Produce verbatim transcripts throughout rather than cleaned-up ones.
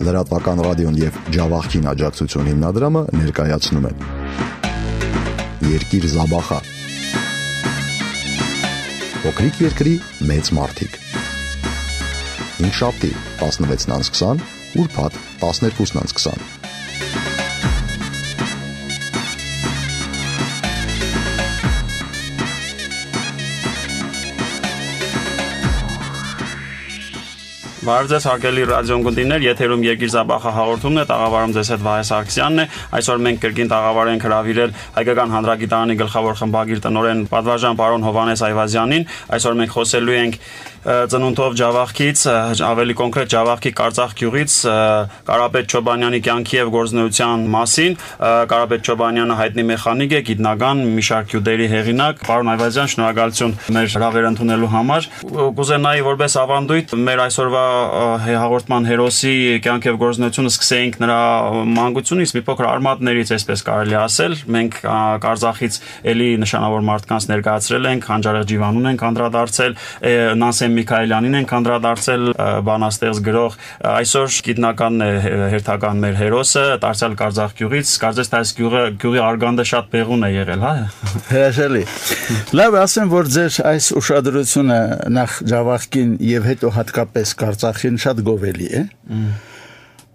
Լրատվական ռադիոն եւ Ջավախքին աջակցություն հիմնադրամը ներկայացնում են Երկիր Զաբախա Փոքրիկ երկրի մեծ մարդիկ Հինգշաբթի տասնվեցն անց քսան, ուրբաթ տասներկուսն անց քսան Բարև ձեզ հարգելի ռադիոընկերներ, եթերում Երկիր Զաբախա հաղորդումն է, տաղավարում ձեզ հետ Վահե Սարգսյանն է։ Այսօր մենք կրկին տաղավար ենք հրավիրել Հայկական հանրագիտարանի գլխավոր խմբագիր տնօրեն պատվարժան պարոն Հովհաննես Այվազյանին։ Այսօր մենք խոսելու ենք ծնունդով Ջավախքից, ավելի կոնկրետ Ջավախքի Կարծախ գյուղից Կարապետ Չոբանյանի կյանքի եւ գործունեության մասին։ Կարապետ Չոբանյանը հայտնի մեխանիկ է, գիտնական, մի շարք գյուտերի հեղինակ։ Պարոն Այվազյան, շնորհակալություն մեր հրավերը ընդունելու համար։ Կուզենայի որպես ավանդույթ մեր այսօրվա հաղորդման հերոսի կյանքի եւ գործունեությունը սկսեինք նրա մանկությունից, մի փոքր արմատներից, այսպես կարելի ասել։ Մենք Կարծախից էլի նշանավոր մարդկանց ներկայացրել ենք, Խանջարեղ Ջիվանուն ենք անդրադարձել, Նասեմ Միքայելյանին ենք անդրադարձել, բանաստեղծ գրող, այսօր գիտնականն է հերթական մեր հերոսը, Տարցյալ Կարծախ գյուղից, կարծես թե այս գյուղը գյուղի արգանդը շատ բեղուն է եղել, հա։ Հրաշալի։ Լավ, ասեմ, որ ձեր այս ուշադրությունը նախ Ջավախքին եւ հետո հատկապես Կարծախին շատ գովելի է,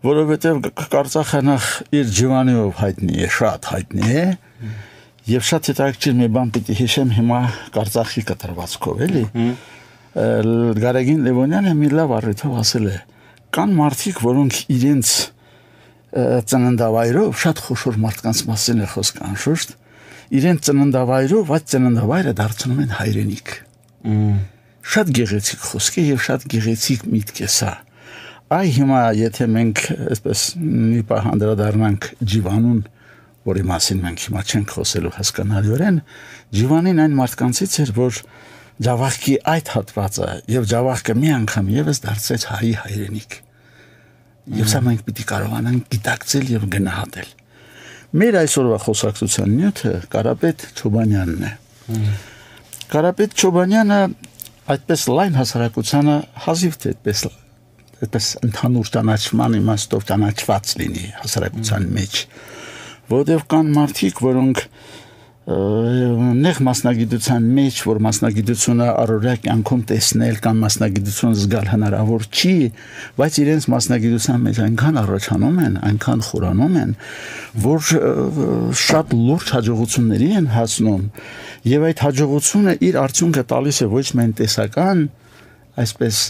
որովհետեւ Կարծախը նախ իր ջիվանիով հայտնի է, շատ հայտնի է, եւ շատ հետաքրքիր մի բան պիտի հիշեմ հիմա Կարծախի կտրվածքով, էլի։ Գարեգին Լևոնյանը մի լավ առիթով ասել է. կան մարդիկ, որոնք իրենց ծննդավայրով շատ խոշոր մարդկանց մասին է խոսք անշուշտ, իրենց ծննդավայրով այդ ծննդավայրը դարձնում են հայրենիք։ Շատ գեղեցիկ խոսք է եւ շատ գեղեցիկ միտք է սա։ Այ հիմա եթե մենք այսպես մի պահ անդրադառնանք Ջիվանուն, որի մասին մենք հիմա չենք խոսելու հասկանալիորեն, Ջիվանին այն մարդկանցից էր, որ Ջավախքի այդ հատվածը եւ Ջավախքը մի անգամ եւս դարձեց հայի հայրենիք։ Եվ սա մենք պիտի կարողանանք գիտակցել եւ գնահատել։ Մեր այսօրվա խոսակցության նյութը Կարապետ Չոբանյանն է։ Կարապետ Չոբանյանը այդպես լայն հասարակությանը հազիվ թե այդպես այդպես ընդհանուր ճանաչման իմաստով ճանաչված լինի հասարակության մեջ, որովհետեւ կան մարդիկ, որոնք նեղ մասնագիտության մեջ, որ մասնագիտությունը առօրյա կյանքում տեսնել կամ մասնագիտություն զգալ հնարավոր չի, բայց իրենց մասնագիտության մեջ այնքան առաջանում են, այնքան խորանում են, որ շատ լուրջ հաջողությունների են հասնում, եւ այդ հաջողությունը իր արդյունքը տալիս է ոչ միայն տեսական, այսպես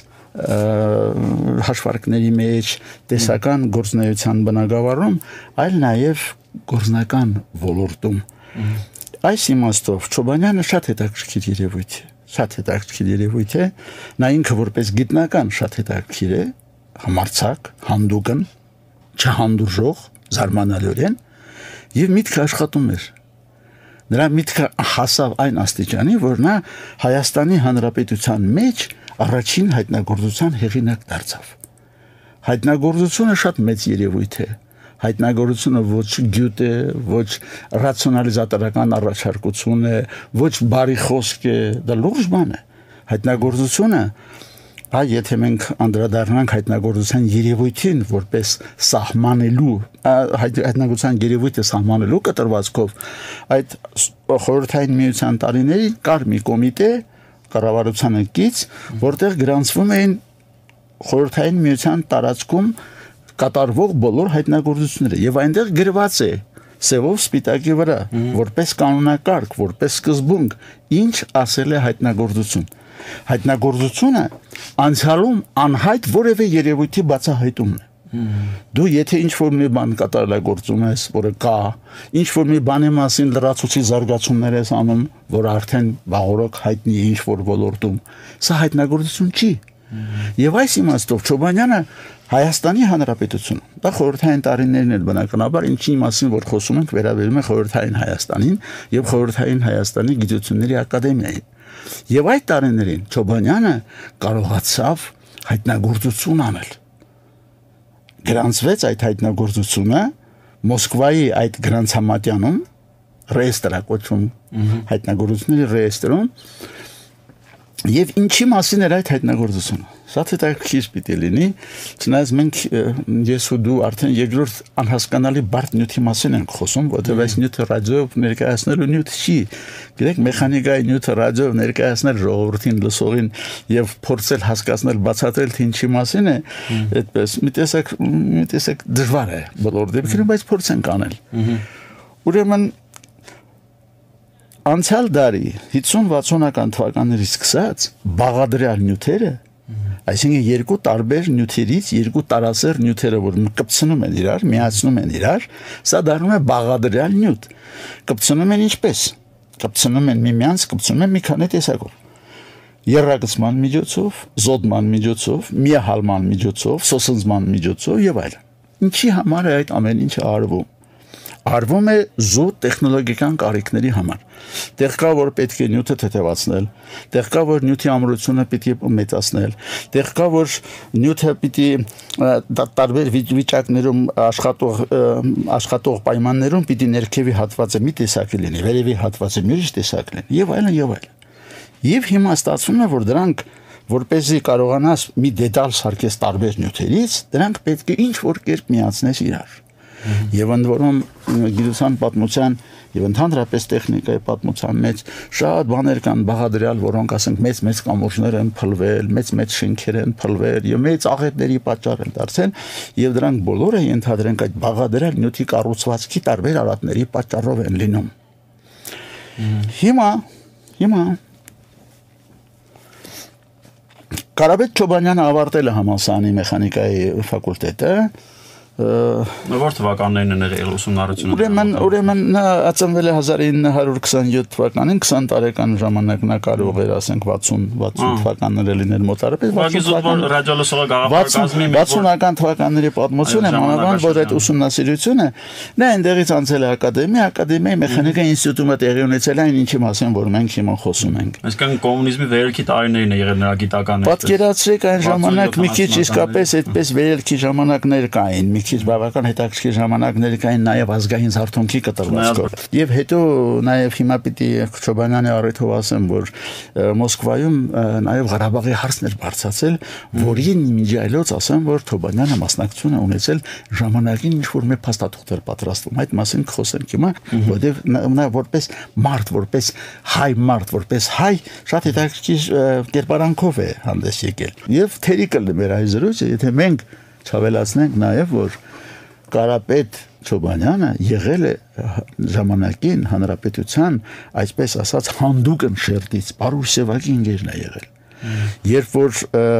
հաշվարկների մեջ, տեսական գործունեության բնագավառում, այլ նաեւ գործնական ոլորտում։ Այս իմաստով Չոբանյանը շատ հետաքրքիր երևույթ է, շատ հետաքրքիր երևույթ է, նա ինքը որպես գիտնական շատ հետաքրքիր է, համարձակ, հանդուգն, չհանդուրժող, զարմանալիորեն, եւ միտքը աշխատում էր։ Նրա միտքը հասավ այն աստիճանի, որ նա Հայաստանի Հանրապետության մեջ առաջին հայտնագործության հեղինակ դարձավ։ Հայտնագործությունը շատ մեծ երևույթ է։ Հայտնագործությունը ոչ գյուտ է, ոչ ռացիոնալիզատորական առաջարկություն է, ոչ բարի խոսք է, դա լուրջ բան է։ Հայտնագործությունը, այ եթե մենք անդրադառնանք հայտնագործության երևույթին որպես սահմանելու, հայտնագործության երևույթը սահմանելու կտրվածքով, այդ խորհրդային միության տարիներին կար մի կոմիտե, կառավարությանը կից, որտեղ գրանցվում էին խորհրդային միության տարածքում կատարվող բոլոր հայտնագործությունները եւ այնտեղ գրված է սևով սպիտակի վրա որպես կանոնակարգ, որպես սկզբունք, ինչ ասել է հայտնագործություն։ Հայտնագործությունը անցյալում անհայտ որևէ երևույթի բացահայտումն է։ Դու եթե ինչ-որ մի բան կատարելագործում ես, որը կա, ինչ-որ մի բանի մասին լրացուցիչ զարգացումներ ես անում, որ արդեն վաղօրոք հայտնի է ինչ-որ ոլորտում, սա հայտնագործություն չի։ Եվ այս իմաստով Չոբանյանը Հայաստանի Հանրապետություն, դա խորհրդային տարիներն են բնականաբար, ինչի մասին որ խոսում ենք, վերաբերում է խորհրդային Հայաստանին եւ խորհրդային Հայաստանի գիտությունների ակադեմիային։ Եվ այդ տարիներին Չոբանյանը կարողացավ հայտնագործություն անել։ Գրանցվեց այդ հայտնագործությունը Մոսկվայի այդ գրանցամատյանում ռեեստրակոչում հայտնագործությունների ռեեստրում Եվ ինչի մասին էր այդ հայտնագործությունը։ Սա հետաքրքիր պիտի լինի, չնայած մենք ես ու դու արդեն երկրորդ անհասկանալի բարդ նյութի մասին ենք խոսում, որտեղ այս նյութը ռադիոյով ներկայացնելու նյութ չի։ Գիտեք, մեխանիկայի նյութը ռադիոյով ներկայացնել ժողովրդին լսողին եւ փորձել հասկացնել, բացատրել թե ինչի մասին է, այդպես մի տեսակ մի տեսակ դժվար է բոլոր դեպքերում, բայց փորձենք անել։ Ուրեմն անցյալ դարի հիսուն-վաթսունական թվականներից սկսած բաղադրյալ նյութերը, այսինքն երկու տարբեր նյութերից երկու տարասեր նյութերը, որ կպցնում են իրար, միացնում են իրար, սա դառնում է բաղադրյալ նյութ։ Կպցնում են ինչպես։ Կպցնում են միմյանց, կպցնում են մի քանի տեսակով։ Եռագծման միջոցով, զոդման միջոցով, միահալման միջոցով, սոսնձման միջոցով եւ այլն։ Ինչի համար է այդ ամեն ինչը արվում։ Արվում է զուտ տեխնոլոգիական կարիքների համար։ Տեղ կա, որ պետք է նյութը թեթևացնել, տեղ կա, որ նյութի ամրությունը պիտի մեծացնել, տեղ կա, որ նյութը պիտի տարբեր վիճակներում աշխատող աշխատող պայմաններում պիտի ներքևի հատվածը մի տեսակի լինի, վերևի հատվածը մի տեսակ լինի, եւ այլն եւ այլն։ Եվ հիմա ստացվում է, որ դրանք որպեսզի կարողանաս մի դետալ սարքես տարբեր նյութերից, դրանք պետք է ինչ որ կերպ միացնես իրար։ Եվ ընդ որում գիտության պատմության եւ ընդհանրապես տեխնիկայի պատմության մեջ շատ բաներ կան բաղադրյալ, որոնք ասենք մեծ-մեծ կամուրջներ են փլվել, մեծ-մեծ շենքեր են փլվել եւ մեծ աղետների պատճառ են դարձել եւ դրանք բոլորը ենթադրենք այդ բաղադրյալ նյութի կառուցվածքի տարբեր արատների պատճառով են լինում։ Հիմա հիմա Կարապետ Չոբանյանը ավարտել է համալսարանի մեխանիկայի ֆակուլտետը Որ թվականներն են եղել ուսումնառությունը։ Ուրեմն, ուրեմն նա ծնվել է հազար ինը հարյուր քսաներկու թվականին, քսան տարեկան ժամանակ նա կարող էր ասենք վաթսուն վաթսուն թվականները լինել մոտարապես վաթսունական թվականների պատմություն է, մանավանդ որ այդ ուսումնասիրությունը նա այնտեղից անցել է ակադեմիա, ակադեմիայի մեխանիկայի ինստիտուտում տեղի ունեցել այն ինչի մասին որ մենք հիմա խոսում ենք։ Այսինքն կոմունիզմի վերելքի տարիներին է եղել նրա գիտականությունը։ Պատկերացրեք այն ժամանակ մի քիչ իսկապես այդպես վերելքի ժամանակներ կային, մի քիչ բավական հետաքրքիր ժամանակներ կային նաև ազգային զարթոնքի կտրվածքով։ Եվ հետո նաև հիմա պիտի Չոբանյանի առիթով ասեմ, որ Մոսկվայում նաև Ղարաբաղի հարցն էր բարձրացել, որին միջայլոց ասեմ, որ Չոբանյանը մասնակցություն է ունեցել ժամանակին ինչ որ մի փաստաթուղթ էր պատրաստվում։ Այդ մասին կխոսենք հիմա, որտեղ նա որպես մարդ, որպես հայ մարդ, որպես հայ շատ հետաքրքիր կերպարանքով է հանդես եկել։ Եվ թերի կլինի մեր այս զրույցը, եթե մենք չավելացնենք նաև որ Կարապետ Չոբանյանը եղել է ժամանակին հանրապետության, այսպես ասած, հանդուկն շերտից, Պարուսևակի ինգերն է եղել։ Երբ որ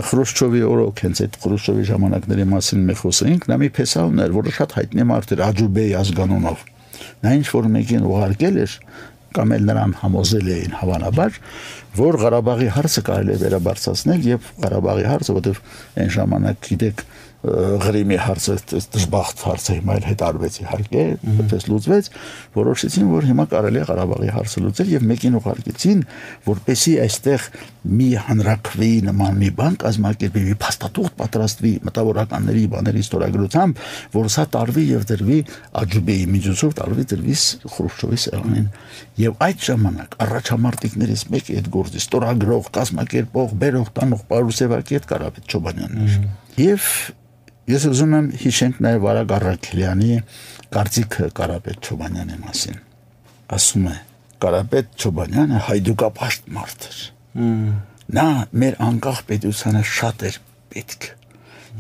Խրուշչովի օրոք հենց այդ Խրուշչովի ժամանակների մասին մենք խոսեինք, նա մի փեսա ուներ, որը շատ հայտնի մարդ էր Աջուբեի ազգանունով։ Նա ինչ որ մեկին ուղարկել էր կամ էլ նրան համոզել էին հավանաբար, որ Ղարաբաղի հարցը կարելի է վերաբարձրացնել եւ Ղարաբաղի հարցը, որտեղ այն ժամանակ գիտեք Ղրիմի հարցը դժբախտ հարցը հիմա էլ հետարվեց իհարկե, որպես լուծվեց, որոշեցին, որ հիմա կարելի է Ղարաբաղի հարցը լուծել եւ մեկին ուղարկեցին, որպեսի այստեղ մի հանրակրվի նման մի բան կազմակերպվի, մի փաստաթուղթ պատրաստվի մտավորականների բաների ստորագրությամբ, որ սա տարվի եւ դրվի Աջուբեի միջոցով տարվի դրվի Խրուշչովի սեղանին։ Եվ այդ ժամանակ առաջամարտիկներից մեկը այդ գործի ստորագրող, կազմակերպող, բերող, տանող Պարուսևակի հետ Կարապետ Չոբանյանն էր։ Եվ ես ուզում եմ հիշենք նաև Վարագ Առաքելյանի կարծիքը Կարապետ Չոբանյանի մասին։ Ասում է Կարապետ Չոբանյանը հայդուկապաշտ մարդ էր։ Նա մեր անկախ պետությանը շատ էր պետք։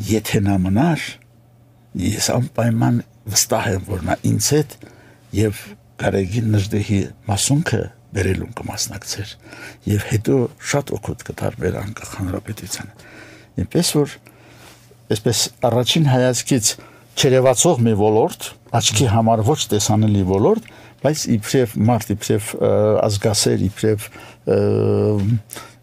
Եթե նա մնար, ես անպայման վստահ եմ, որ նա ինձ հետ եւ Գարեգին Նժդեհի մասունքը բերելուն կմասնակցեր եւ հետո շատ օգուտ կտար մեր անկախ հանրապետությանը։ Այնպես որ այսպես առաջին հայացքից չերևացող մի ոլորտ, աչքի համար ոչ տեսանելի ոլորտ, բայց իբրև մարդ, իբրև ազգասեր, իբրև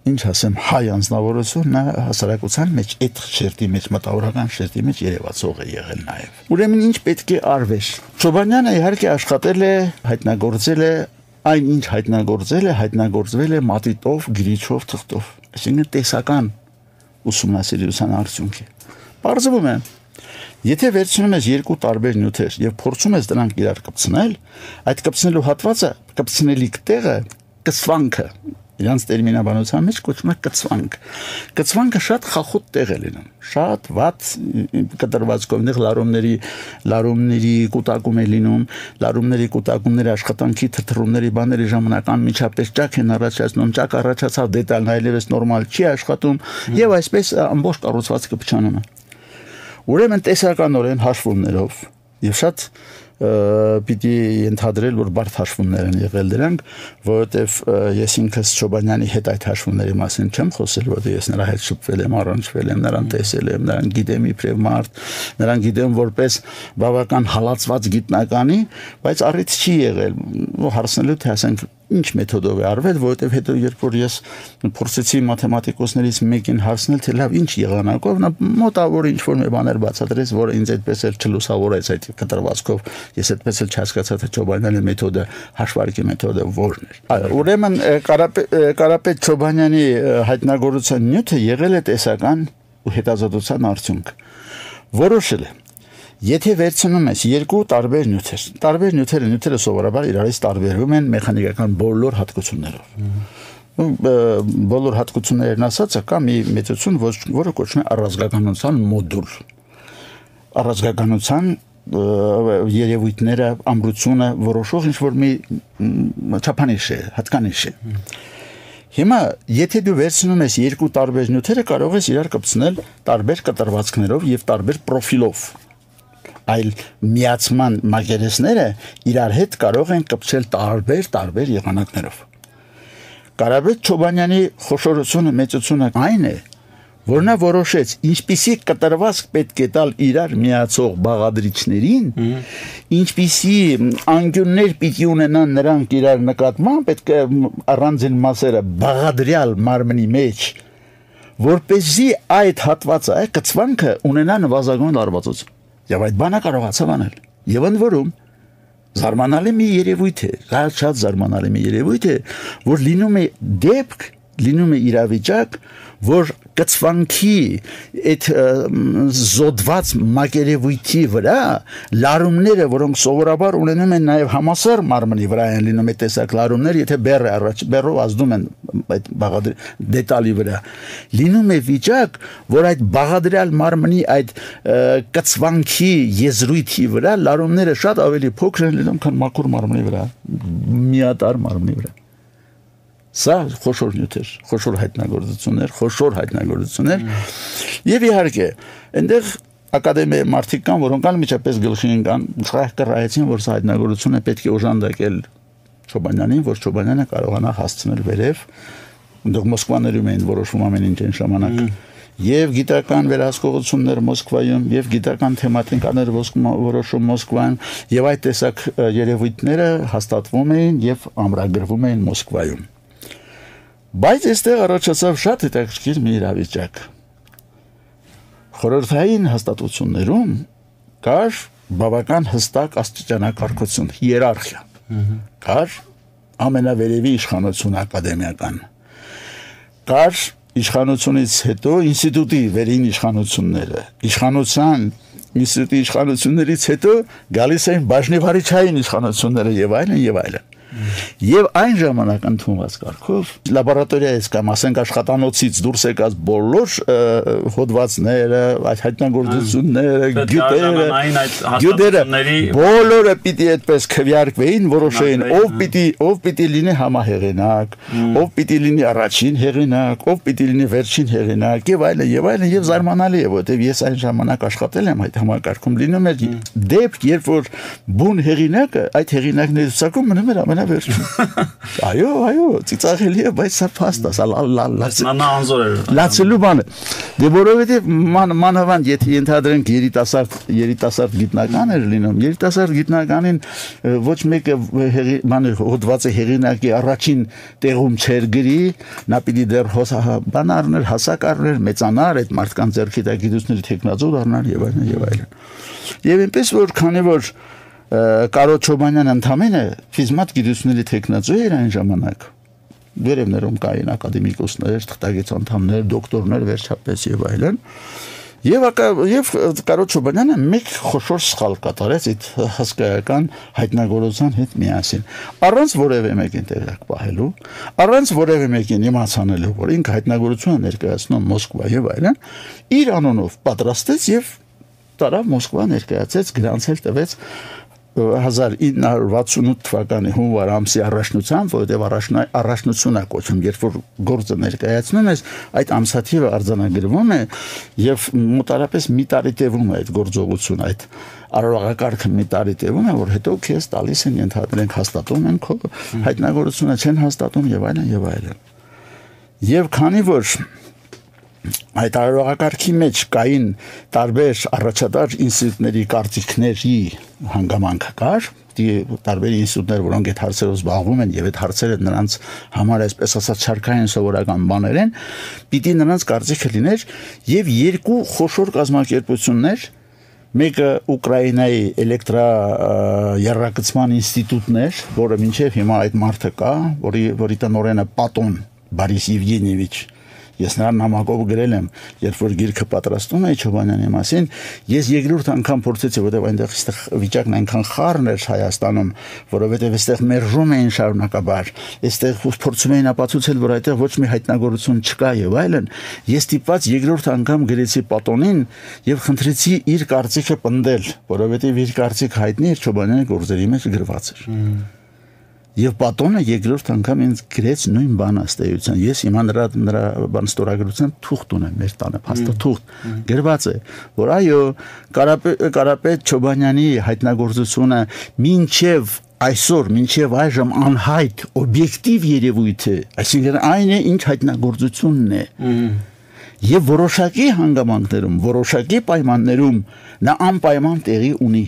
ինչ ասեմ, հայ անձնավորություն նա հասարակության մեջ այդ շերտի մեջ, մտավորական շերտի մեջ երևացող է եղել նաև։ Ուրեմն ինչ պետք է արվեր։ Չոբանյանը իհարկե աշխատել է, հայտնագործել է այն ինչ հայտնագործել է, հայտնագործվել է մատիտով, գրիչով, թղթով։ Այսինքն տեսական ուսումնասիրության արդյունք է։ Պարզվում է, եթե վերցնում ես երկու տարբեր նյութեր եւ փորձում ես դրանք իրար կպցնել, այդ կպցնելու հատվածը, կպցնելիք տեղը, կսվանքը, Իրանց տերմինաբանության մեջ կոչվում է կծվանք։ Կծվանքը շատ խախոտ տեղ է լինում, շատ վատ կտրվածքով նեղ լարումների լարումների կուտակում է լինում, լարումների կուտակումների աշխատանքի թրթռումների բաների ժամանակ անմիջապես ճաք են առաջացնում, ճաք առաջացավ դետալն այլևս նորմալ չի աշխատում եւ այսպես ամբողջ կառուցվածքը փչանում է։ Ուրեմն տեսականորեն հաշվումներով եւ շատ պիտի ընդհանրել որ բարդ հաշվումներ են եղել դրանք, որովհետև ես ինքս Չոբանյանի հետ այդ հաշվումների մասին չեմ խոսել, որովհետև ես նրա հետ շփվել եմ, առնչվել եմ, նրան տեսել եմ, նրան գիտեմ իբրև մարդ, նրան գիտեմ որպես բավական հալածված գիտնականի, բայց առիթ չի եղել հարցնելու թե ասենք ինչ մեթոդով է արվել, որովհետև հետո երբ որ ես փորձեցի մաթեմատիկոսներից մեկին հարցնել, թե լավ ինչ եղանակով, նա մոտավոր ինչ որ մի բաներ բացատրեց, որը ինձ այդպես էլ չլուսավորեց այդ կտրվածքով, ես այդպես էլ չհասկացա, թե Չոբանյանի մեթոդը, հաշվարկի մեթոդը որն էր։ Այո, ուրեմն Կարապետ Չոբանյանի հայտնագործության նյութը եղել է տեսական ու հետազոտության արդյունք։ Որոշել է Եթե վերցնում ես երկու տարբեր նյութեր, տարբեր նյութերը նյութերը սովորաբար իրարից տարբերվում են մեխանիկական բոլոր հատկություններով։ Բոլոր հատկություններն ասածը կա մի մեծություն, որը կոչվում է առազգականության մոդուլ։ Առազգականության երևույթները, ամրությունը որոշող ինչ-որ մի չափանիշ է, հատկանիշ է։ Հիմա եթե դու վերցնում ես երկու տարբեր նյութերը, կարող ես իրար կպցնել տարբեր կտրվածքներով եւ տարբեր պրոֆիլով։ Այլ միացման մակերեսները իրար հետ կարող են կպչել տարբեր տարբեր եղանակներով։ Կարապետ Չոբանյանի խոշորությունը մեծությունը այն է, որ նա որոշեց ինչպիսի կտրվածք պետք է տալ իրար միացող բաղադրիչներին, ինչպիսի անկյուններ պիտի ունենան նրանք իրար նկատմամբ, պետք է առանձին մասերը բաղադրյալ մարմնի մեջ, որպեսզի այդ հատվածը, այդ կծվանքը ունենա նվազագույն լարվածություն։ Եվ այդ բանը կարողացավ անել։ Եվ ընդ որում զարմանալի մի երևույթ է, շատ զարմանալի մի երևույթ է, որ լինում է դեպք, լինում է իրավիճակ, որ կծվանքի այդ զոդված մակերևույթի վրա լարումները, որոնք սովորաբար ունենում են նաև համասեռ մարմնի վրա են լինում այդ տեսակ լարումներ, եթե բեռը առաջ բեռով ազդում են այդ բաղադրի դետալի վրա, լինում է վիճակ, որ այդ բաղադրյալ մարմնի այդ կծվանքի եզրույթի վրա լարումները շատ ավելի փոքր են լինում, քան մաքուր մարմնի վրա, միատարր մարմնի վրա։ Սա խոշոր նյութեր, խոշոր հայտնագործություններ, խոշոր հայտնագործություններ եւ իհարկե այնտեղ ակադեմիայի մարդիկ կան, որոնք անմիջապես գլխի ընկան, կռայեցին, որ սա հայտնագործությունը պետք է օժանդակել Չոբանյանին, որ Չոբանյանը կարողանա հասցնել վերև, այնտեղ Մոսկվաներում էին որոշվում ամեն ինչ այն ժամանակ եւ գիտական վերահսկողություններ Մոսկվայում եւ գիտական թեմատիկաներ որոշում Մոսկվայում եւ այդ տեսակ երևույթները հաստատվում էին եւ ամրագրվում էին Մոսկվայում։ Բայց այստեղ առաջացավ շատ հետաքրքիր մի իրավիճակ։ Խորհրդային հաստատություններում կար բավական հստակ աստիճանակարգություն, հիերարխիա։ Կար ամենավերևի իշխանություն ակադեմիական։ Կար իշխանությունից հետո ինստիտուտի վերին իշխանությունները, իշխանության ինստիտուտի իշխանություններից հետո գալիս էին բաժնեվարիչային իշխանությունները եւ այլն եւ այլն։ Եվ այն ժամանակ ընդունված կարգով լաբորատորիայից կամ ասենք աշխատանոցից դուրս եկած բոլոր հոդվածները, այդ հայտնագործությունները, գյուտերը, բոլորը պիտի այդպես քվեարկվեին, որոշեին ով պիտի ով պիտի լինի համահեղինակ, ով պիտի լինի առաջին հեղինակ, ով պիտի լինի վերջին հեղինակ եւ այլն եւ այլն եւ զարմանալի է, որովհետեւ ես այն ժամանակ աշխատել եմ այդ համակարգում, լինում էր դեպք, երբ որ բուն հեղինակը այդ հեղինակների ցուցակում մնում էր ամենա Այո, այո, ծիծաղելի է, բայց սա փաստ է, սա անզոր է։ Լացելու բան է։ Դե որովհետև մանավանդ եթե ենթադրենք երիտասարդ երիտասարդ գիտնական էր լինում, երիտասարդ գիտնականին ոչ մեկը բանը հոդվածը հեղինակի առաջին տեղում չեր գրի, նա պիտի դեռ բան առներ, հասակ առներ, մեծանար, այդ մարդկանց ձեռքի տակ գիտությունների տեխնազոր առներ եւ այլն եւ այլն։ Եվ այնպես որ քանի որ Կարո Չոբանյանը ընդամենը ֆիզմատ գիտությունների տեխնացու էր այն ժամանակ։ Վերևներում կային ակադեմիկոսներ, թղթակից անդամներ, դոկտորներ վերջապես եւ այլն։ Եվ եւ Կարոտ Չոբանյանը մեկ խոշոր սխալ կատարեց այդ հսկայական հայտնագործության հետ միասին։ Առանց որևէ մեկին տեղյակ պահելու, առանց որևէ մեկին իմացանելու, որ ինքը հայտնագործությունը ներկայացնում Մոսկվա եւ այլն, իր անունով պատրաստեց եւ տարավ Մոսկվա ներկայացեց, գրանցել տվեց հազար ինը հարյուր վաթսունութ թվականի հունվար ամսի առաջնությամբ, որովհետև առաջնությունն է կոչվում, երբ որ գործը ներկայացնում ես, այդ ամսաթիվը արձանագրվում է եւ մոտարապես մի տարի տևում է այդ գործողությունը, այդ արարողակարգը մի տարի տևում է, որ հետո քեզ տալիս են ենթադրենք հաստատում են քո հայտնագործությունը չեն հաստատում եւ այլն եւ այլն։ Եվ քանի որ այդ արարողակարգի մեջ կային տարբեր առաջատար ինստիտուտների կարծիքների հանգամանք կար, տարբեր ինստիտուտներ, որոնք այդ հարցերով զբաղվում են եւ այդ հարցերը նրանց համար այսպես ասած շարքային սովորական բաներ են, պիտի նրանց կարծիքը լիներ եւ երկու խոշոր կազմակերպություններ, մեկը Ուկրաինայի էլեկտրա երրակցման ինստիտուտն էր, որը մինչեւ հիմա այդ մարդը կա, որի որի տնօրենը Պատոն Բարիս Եվգենիևիչ Ես նրան նամակով գրել եմ, երբ որ գիրքը պատրաստում էի Չոբանյանի մասին, ես երկրորդ անգամ փորձեցի, որովհետև այնտեղ այստեղ վիճակն այնքան խառն էր Հայաստանում, որովհետև այստեղ մերժում էին շարունակաբար, այստեղ փորձում էին ապացուցել, որ այդտեղ ոչ մի հայտնագործություն չկա եւ այլն, ես ստիպված երկրորդ անգամ գրեցի Պատոնին եւ խնդրեցի իր կարծիքը պնդել, որովհետև իր կարծիքը հայտնի էր Չոբանյանի գործերի մեջ գրված էր։ Եվ Պատոնը երկրորդ անգամ ինձ գրեց նույն բանը ըստեյության։ Ես հիմա նրա նրա բան ստորագրության թուղթ ունեմ մեր տանը, փաստաթուղթ գրված է, որ այո, Կարապետ Չոբանյանի հայտնագործությունը մինչև այսօր, մինչև այժմ անհայտ օբյեկտիվ երևույթ է, այսինքն այն է, ինչ հայտնագործությունն է։ Եվ որոշակի հանգամանքներում, որոշակի պայմաններում նա անպայման տեղի ունի։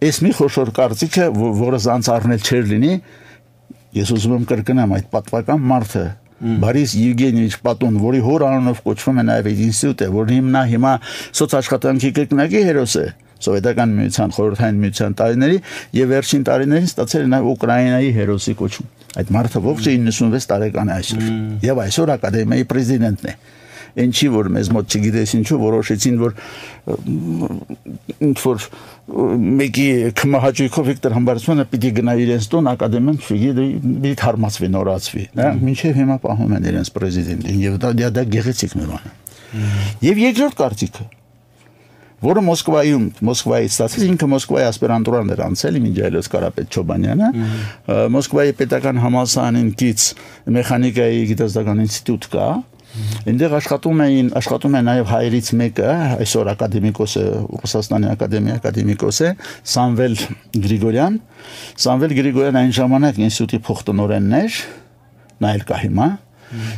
Ես մի խոշոր կարծիքը, որը զանց առնել չէր լինի, ես ուզում եմ կրկնեմ այդ պատվական մարդը, Բարիս Եվգենիևիչ Պատոն, որի հոր անունով կոչվում է նաև այդ ինստիտուտը, որ հիմա հիմա սոցաշխատանքի կրկնակի հերոս է Սովետական միության, Խորհրդային միության տարիների եւ վերջին տարիներին ստացել է նաև Ուկրաինայի հերոսի կոչում։ Այդ մարդը ողջ իննսունվեց տարեկան է այսօր եւ այսօր ակադեմիայի պրեզիդենտն է։ Ինչի որ մեզ մոտ չգիտես ինչու որոշեցին որ ինչ որ մեկի կմահաճույքով Վիկտոր Համբարձմյանը պիտի գնա իրենց տուն ակադեմիան չգիտի թարմացվի նորացվի նա մինչև հիմա պահում են իրենց պրեզիդենտին եւ դա դա գեղեցիկ մի բան է եւ երկրորդ կարծիքը որը Մոսկվայում Մոսկվայից ստացեց ինքը Մոսկվայի ասպիրանտուրան էր անցել մինչ այլոց Կարապետ Չոբանյանը Մոսկվայի պետական համալսարանին կից մեխանիկայի գիտազդական ինստիտուտ կա Այնտեղ աշխատում էին, աշխատում է նաև հայերից մեկը, այսօր ակադեմիկոս է, Ռուսաստանի ակադեմիա ակադեմիկոս է, Սամվել Գրիգորյան։ Սամվել Գրիգորյան այն ժամանակ ինստիտուտի փոխտնօրենն էր, նա էլ կա հիմա։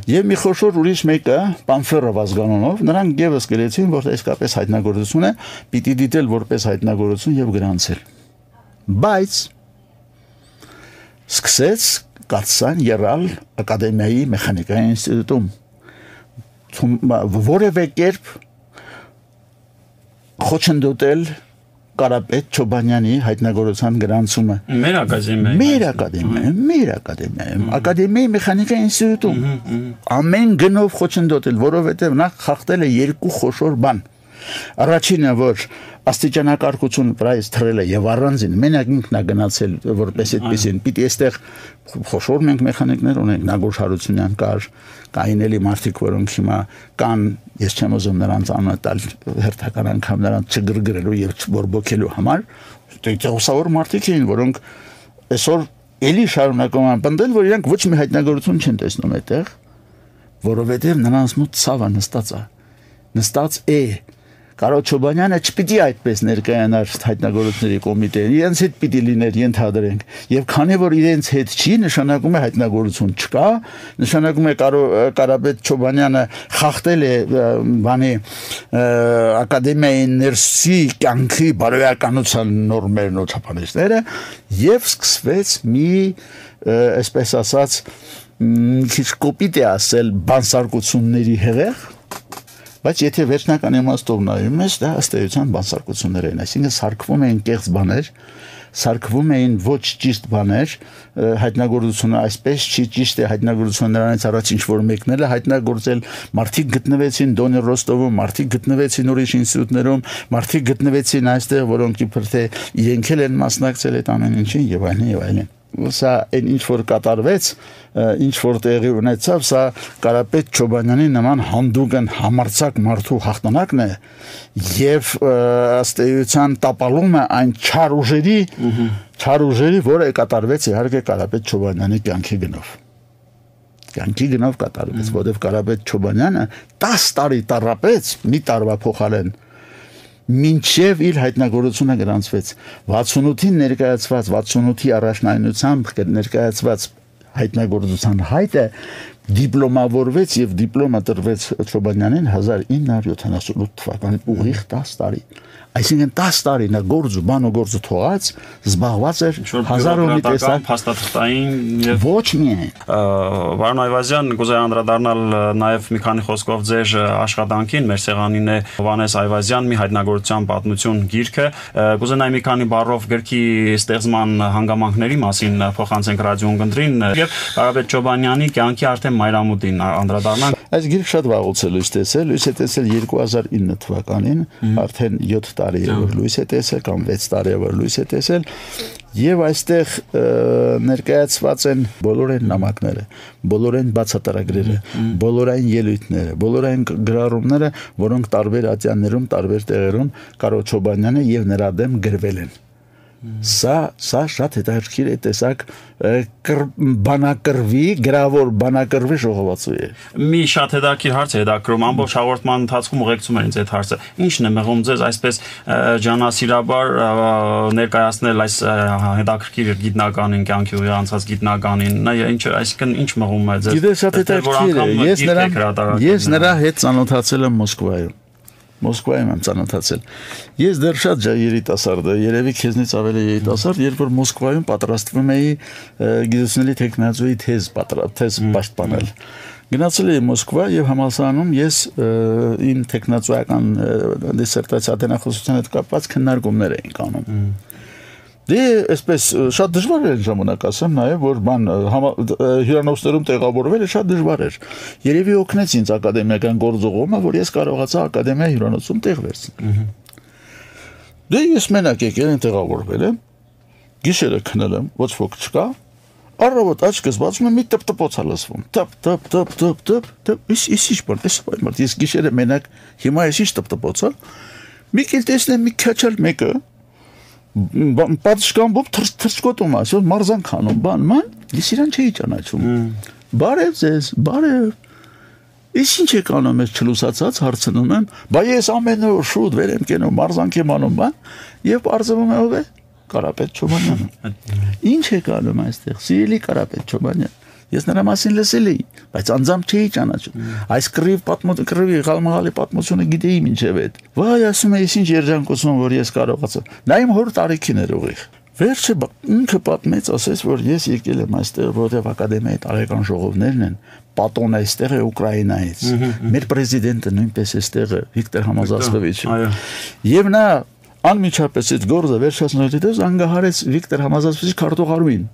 Եվ մի խոշոր ուրիշ մեկը, Պանֆերով ազգանունով, նրանք եւս գրեցին, որ իսկապես հայտնագործությունը պիտի դիտել որպես հայտնագործություն եւ գրանցել։ Բայց սկսեց կացան եռալ ակադեմիայի մեխանիկայի ինստիտուտում որևէ կերպ խոչընդոտել Կարապետ Չոբանյանի հայտնագործության գրանցումը մեր ակադեմիայում մեր ակադեմիայում մեր ակադեմիայում ակադեմիայի մեխանիկայի ինստիտուտում ամեն գնով խոչընդոտել որովհետև նա խախտել է երկու խոշոր բան առաջինը որ աստիճանակարգություն վրայից թռել է եւ առանձին մենակ ինքն է գնացել որպես այդպեսին պիտի այստեղ խոշոր մենք մեխանիկներ ունենք Նագոր Հարությունյան կար կային էլի մարդիկ որոնք հիմա կան ես չեմ ուզում նրանց անունը տալ հերթական անգամ նրանց չգրգրելու եւ չբորբոքելու համար դեպքովսավոր մարդիկ էին որոնք այսօր էլի շարունակում են պնդել որ իրանք ոչ մի հայտնագործություն չեն տեսնում այդտեղ որովհետեւ նրանց մոտ ցավը նստած է նստած է Կարոտ Չոբանյանը չպիտի այդպես ներկայանար հայտնագործությունների կոմիտեին, իրենց հետ պիտի լիներ ենթադրենք, եւ քանի որ իրենց հետ չի, նշանակում է հայտնագործություն չկա, նշանակում է Կարապետ Չոբանյանը խախտել է բանի ակադեմիայի ներսի կյանքի բարոյականության նորմերն ու չափանիշները եւ սկսվեց մի այսպես ասած քիչ կոպիտ է ասել բանսարկությունների հեղեղ Բայց եթե վերջնական իմաստով նայում ես, դա ըստ էության բանսարկություններ են, այսինքն սարքվում էին կեղծ բաներ, սարքվում էին ոչ ճիշտ բաներ, հայտնագործությունը այսպես չի ճիշտ է, հայտնագործությունը նրանից առաջ ինչ որ մեկնել է հայտնագործել, մարդիկ գտնվեցին Դոնի Ռոստովում, մարդիկ գտնվեցին ուրիշ ինստիտուտներում, մարդիկ գտնվեցին այստեղ, որոնք իբր թե իրենք էլ են մասնակցել այդ ամեն ինչին եւ այլն եւ այլն։ Սա այն ինչ որ կատարվեց, ինչ որ տեղի ունեցավ, սա Կարապետ Չոբանյանի նման հանդուգն համարձակ մարդու հաղթանակն է եւ ըստ էության տապալում է այն չար ուժերի, չար ուժերի, որը կատարվեց իհարկե Կարապետ Չոբանյանի կյանքի գնով։ Կյանքի գնով կատարվեց, որովհետեւ Կարապետ Չոբանյանը տասը տարի տառապեց մի տարվա փոխարեն մինչև իր հայտնագործությունը գրանցվեց վաթսունութին ներկայացված վաթսունութի առաջնայնությամբ ներկայացված հայտնագործության հայտը դիպլոմավորվեց եւ դիպլոմա տրվեց Չոբանյանին հազար ինը հարյուր յոթանասունութ թվականին ուղիղ տասը տարի այսինքն տասը տարի նա գործ ու բան ու գործը թողած զբաղված էր հազար ու մի տեսակ փաստաթղթային եւ ոչ միայն Վարոն Այվազյան կուզեի անդրադառնալ նաեւ մի քանի խոսքով ձեր աշխատանքին մեր սեղանին է Հովհաննես Այվազյան մի հայտնագործության պատմություն գիրքը կուզենայի մի քանի բառով գրքի ստեղծման հանգամանքների մասին փոխանցենք ռադիոն կնդրին եւ Կարապետ Չոբանյանի կյանքի արդեն մայրամուտին անդրադառնանք այս գիրքը շատ վաղուց է լույս տեսել լույս է տեսել երկու հազար ինը թվականին արդեն յոթ տարի է որ լույս է տեսել կամ վեց տարի է որ լույս է տեսել եւ այստեղ ներկայացված են բոլոր այն նամակները բոլոր այն բացատրագրերը բոլոր այն ելույթները բոլոր այն գրառումները որոնք տարբեր ատյաններում տարբեր տեղերում Կարո Չոբանյանը եւ նրա դեմ գրվել են Սա սա շատ հետաքրքիր է տեսակ բանակրվի գրավոր բանակրվի ժողովածու է մի շատ հետաքրքիր հարց է հետաքրում ամբողջ հաղորդման ընթացքում ուղեկցում են ինձ այդ հարցը ինչն է մեղում ձեզ այսպես ջանասիրաբար ներկայացնել այս հետաքրքիր գիտնականին կյանքի ուղի անցած գիտնականին նա ինչ այսինքն ինչ մեղում է ձեզ գիտես շատ հետաքրքիր է ես նրա ես նրա հետ ծանոթացել եմ Մոսկվայում Մոսկվայում եմ ծանոթացել։ Ես դեռ շատ երիտասարդ եմ, երևի քեզնից ավելի երիտասարդ, երբ որ Մոսկվայում պատրաստվում էի գիտությունների տեխնոլոգիայի թեզ թեզ պաշտպանել։ Գնացել էի Մոսկվա եւ համալսարանում ես իմ տեխնոլոգիական դիսերտացիա ատենախոսության հետ կապված քննարկումներ էինք անում։ Դե այսպես շատ դժվար էր ժամանակ ասեմ նաև որ բան հյուրանոցներում տեղավորվելը շատ դժվար էր երևի օգնեց ինձ ակադեմիական գործողումը որ ես կարողացա ակադեմիա հյուրանոցում տեղ վերցնել դե ես մենակ եկել եմ տեղավորվել եմ գիշերը քնել եմ ոչ ոք չկա առավոտ աչքս բացում եմ մի տպտպոց լսվում տպ տպ տպ տպ տպ տպ իս իս ինչ բան էս բան ես գիշերը մենակ հիմա ես ինչ տպտպոցա մի քիչ տեսնեմ մի քաչալ մեկը պատշկամբով թրցկոտում ասում մարզան քանում բան ման ես իրան չէի ճանաչում բարև ձեզ բարև ես ինչ եք անում ես չլուսացած հարցնում եմ բա ես ամեն օր շուտ վեր եմ կենում մարզանք եմ անում բան եւ արձվում է ով է Կարապետ Չոբանյանը ինչ եք անում այստեղ սիրելի Կարապետ Չոբանյան ես նրա մասին լսել էի բայց անձամբ չէի ճանաչում այս կռիվ պատմություն կռիվի գալմաղալի պատմությունը գիտեի մինչև այդ վայ ասում եմ ես ինչ երջանկություն որ ես կարողացա նա իմ հոր տարիքին էր ուղիղ վերջը ինքը պատմեց ասես որ ես եկել եմ այստեղ որովհետև ակադեմիայի տարեկան ժողովներն են պատոն այստեղ է Ուկրաինայից մեր պրեզիդենտը նույնպես այստեղ է Վիկտոր Համազասպովիչը եւ նա անմիջապես այդ գործը վերջացնելուց անգահարեց Վիկտոր Համազասպովիչի քարտուղարուին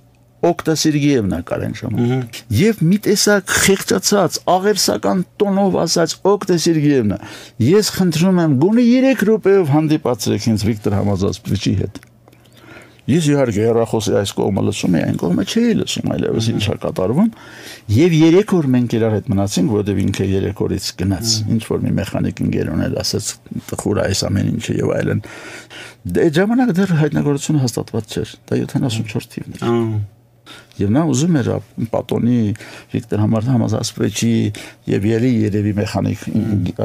Օկտա Սերգեևնա կարեն ժամանակ եւ մի տեսակ խեղճացած աղերսական տոնով ասած Օկտա Սերգեևնա ես խնդրում եմ գոնե երեք րոպեով հանդիպացրեք ինձ Վիկտոր Համազասպովիչի հետ ես իհարկե հեռախոսի այս կողմը լսում էի այն կողմը չէի լսում այլևս ինչա կատարվում եւ երեք օր մենք իրար հետ մնացինք որովհետեւ ինքը երեք օրից գնաց ինչ որ մի մեխանիկ ընկերոն էլ ասաց տխուր այս ամեն ինչը եւ այլն դե ժամանակ դեռ հայտնագործությունը հաստատված չէր դա յոթանասունչորդ թիվն էր Եվ նա ուզում էր պատոնի Վիկտոր Համազասպովիչի եւ ելի երևի մեխանիկ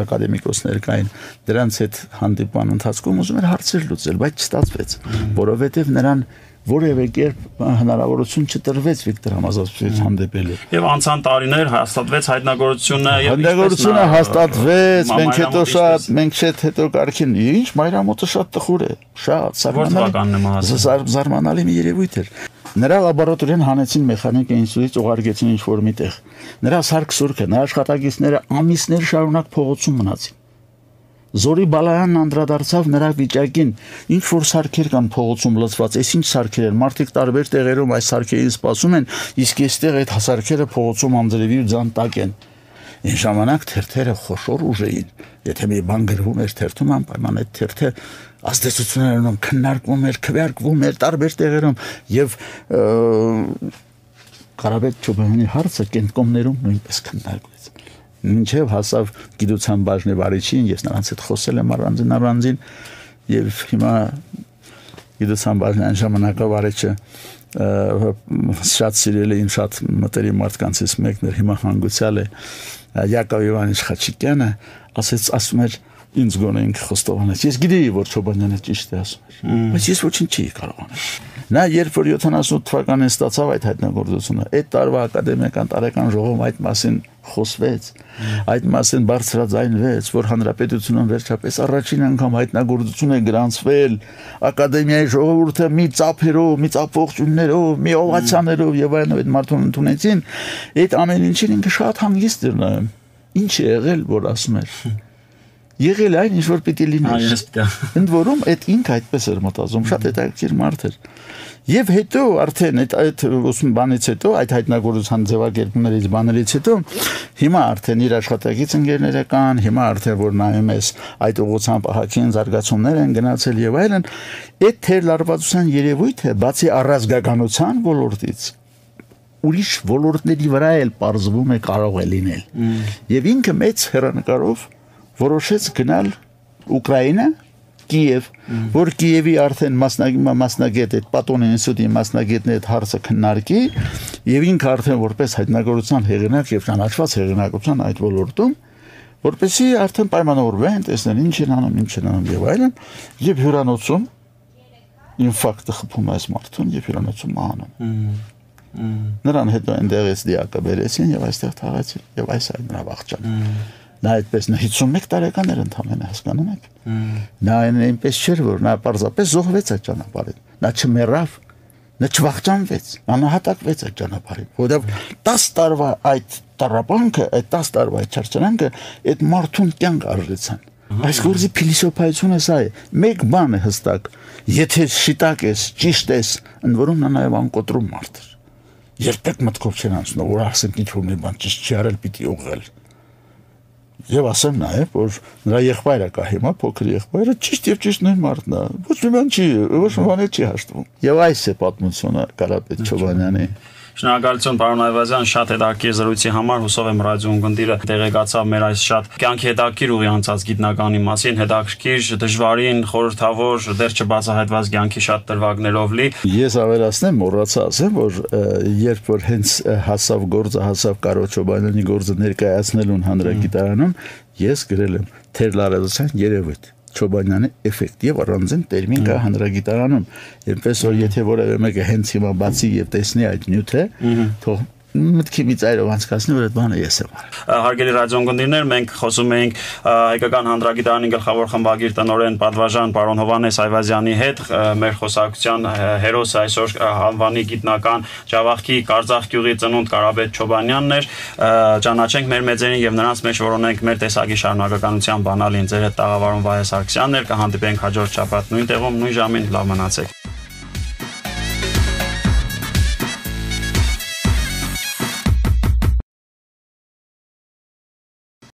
ակադեմիկոսներ կային դրանց հետ հանդիպման ընթացքում ուզում էր հարցեր լուծել բայց չստացվեց որովհետեւ նրան որևէ կերպ հնարավորություն չտրվեց Վիկտոր Համազասպովիչի հանդիպելու եւ անցան տարիներ հաստատվեց հայտնագործությունը եւ հայտնագործությունը հաստատվեց մենք հետո շատ մենք շատ հետո կարքին ինչ մայրամուտը շատ տխուր է շատ զարմանալի մի երևույթ էր Նրա լաբորատորիան հանեցին մեխանիկա ինստիտուտից ուղարկեցին ինչ որ միտեղ։ Նրա սարք սուրքը, նրա աշխատակիցները ամիսներ շարունակ փողոցում մնացին։ Զորի Բալայանն անդրադարձավ նրա վիճակին, ինչ որ սարքեր կան փողոցում լցված, այս ինչ սարքեր են, մարդիկ տարբեր տեղերում այս սարքերին սպասում են, իսկ այստեղ այդ սարքերը փողոցում անձրևի ու ձան տակ են։ Այն ժամանակ թերթերը խոշոր ուժ էին։ Եթե մի բան գրվում էր թերթում, անպայման այդ թերթը ազդեցություններով քննարկվում էր, քվեարկվում էր տարբեր տեղերում եւ Կարապետ Չոբյանի հարցը կենտկոմներում նույնպես քննարկվեց։ Մինչև հասավ գիտության բաժնի վարիչին, ես նրանց հետ խոսել եմ առանձին առանձին եւ հիմա գիտության բաժնի այն ժամանակավարիչը շատ սիրել է, շատ մտերիմ մարդկանցից մեկն էր, հիմա հանգուցյալ է Յակով Իվանիչ Խաչիկյանը, ասեց, ասում էր ինձ գոնե ինքը խոստովանեց։ Ես գիտեի, որ Չոբանյանը ճիշտ է ասում էր, բայց ես ոչինչ չի կարող անել։ Նա երբ որ յոթանասուն թվականին ստացավ այդ հայտնագործությունը, այդ տարվա ակադեմիական տարեկան ժողովում այդ մասին խոսվեց, այդ մասին բարձրաձայնվեց, որ հանրապետությունում վերջապես առաջին անգամ հայտնագործություն է գրանցվել, ակադեմիայի ժողովուրդը մի ծափերով, մի ծափողջուններով, մի օվացիաներով եւ այլն այդ մարդուն ընդունեցին, այդ ամեն ինչին ինքը շատ հանգիստ էր նայում։ Ինչ է եղել, որ ասում էր։ Եղել այն ինչ որ պիտի լիներ։ Ընդ որում այդ ինքը այդպես էր մտածում, շատ հետաքրքիր մարդ էր։ Եվ հետո արդեն այդ այդ ուսում բանից հետո այդ հայտնագործության ձևակերպումներից բաներից հետո հիմա արդեն իր աշխատակից ընկերները կան, հիմա արդեն որ նայում ես այդ ուղղությամբ ահագին զարգացումներ են գնացել եւ այլն, այդ թերլարվածության երևույթը բացի առազգականության ոլորտից ուրիշ ոլորտների վրա էլ պարզվում է կարող է լինել։ Եվ ինքը մեծ հեռանկարով որոշեց գնալ Ուկրաինա, Կիև, որ Կիևի արդեն մասնագետ այդ Պատոն ինստիտուտի մասնագետն այդ հարցը քննարկի, եւ ինքը արդեն որպես հայտնագործության հեղինակ եւ ճանաչված հեղինակության այդ ոլորտում, որպեսզի արդեն պայմանավորվեն, տեսնեն ինչ են անում, ինչ են անում եւ այլն, եւ հյուրանոցում ինֆարկտը խփում այս մարդուն եւ հյուրանոցում մահանում։ Նրան հետո այնտեղից դիակը բերեցին եւ այստեղ թաղեցին եւ այս այդ նրա վաղճան։ Նա այդպես հիսունմեկ տարեկան էր ընդամենը, հասկանում եք։ Նա այնպես չէր, որ նա պարզապես զոհվեց այդ ճանապարհին։ Նա չմեռավ, նա չվախճանվեց, անհատակվեց այդ ճանապարհին։ Որովհետև տասը տարվա այդ տառապանքը, այդ տասը տարվա այդ չարչարանքը այդ մարդուն կյանք արժեցան։ Այս գործի փիլիսոփայությունը սա է։ Մեկ բան է հստակ, եթե շիտակ ես, ճիշտ ես, ընդ որում նա նաև անկոտրում մարդ էր։ Երբեք մտքով չեն անցնում, որ ասենք ինչ որ մի բան ճիշտ չի արել, պիտի ուղղել։ Եվ ասեմ նաև, որ նրա եղբայրը կա հիմա, փոքր եղբայրը ճիշտ եւ ճիշտ նույն մարդն է։ Ոչ մի բան չի, ոչ մի բան չի հաշտվում։ Եվ այս է պատմությունը Կարապետ Չոբանյանի։ Շնորհակալություն պարոն Այվազյան, շատ հետաքրքիր զրույցի համար, հուսով եմ ռադիոյն գնդիրը տեղեկացավ մեր այս շատ կյանքի հետաքրքիր ուղի անցած գիտնականի մասին, հետաքրքիր, դժվարին, խորհրդավոր, դեռ չբացահայտված կյանքի շատ դրվագներով լի։ Ես ավելացնեմ, մոռացա ասեմ, որ երբ որ հենց հասավ գործը, հասավ Կարո Չոբանյանի գործը ներկայացնելուն հանրագիտարանում, ես գրել եմ թերլարվածության երևույթ Չոբանյանի էֆեկտ եւ առանձին տերմին կա հանրագիտարանում, այնպես որ եթե որևէ մեկը հենց հիմա բացի եւ տեսնի այդ նյութը, թող մտքի մի ծայրով անցկացնի, որ այդ բանը ես եմ արել։ Հարգելի ռադիոընկերներ, մենք խոսում էինք հայկական հանրագիտարանի գլխավոր խմբագիր տնօրեն Պատվաժան պարոն Հովհաննես Այվազյանի հետ, մեր խոսակցության հերոսը այսօր անվանի գիտնական Ջավախքի Կարծախ գյուղի ծնունդ Կարապետ Չոբանյանն էր։ Ճանաչենք մեր մեծերին եւ նրանց մեջ որոնենք մեր տեսակի շարունակականության բանալին։ Ձեր հետ տաղավարում Վահե Սարգսյանն էր, կհանդիպենք հաջորդ շաբաթ նույն տեղում, նույն ժամին, լավ մնացեք։